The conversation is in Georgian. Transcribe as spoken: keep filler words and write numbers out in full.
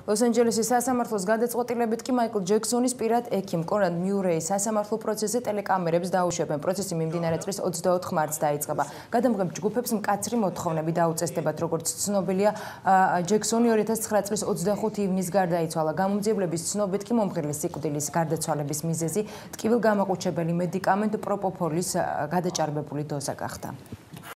ლოს-ანჯელესის სასამართლოს გადაწყვეტილებით კი მაიკლ ჯექსონის პირად ექიმ კონრად მიურეის სასამართლო პროცესზე ტელეკამერებს დაუშვებენ. პროცესი მიმდინარე წლის ოცდაოთხ მარტს დაიწყება. გადამღებ ჯგუფებს მკაცრი მოთხოვნები დაუწესდებათ, როგორც ცნობილია, ჯექსონი ორი ათას ცხრა წლის ოცდახუთი ივნისს გარდაიცვალა. გამომძიებლების ცნობით კი მომღერლის სიკვდილის გარდაცვალების მიზეზი ტკივილგამაყუჩებელი მედიკამენტ პროპოფოლის გადაჭარბებული დოზა გახდა.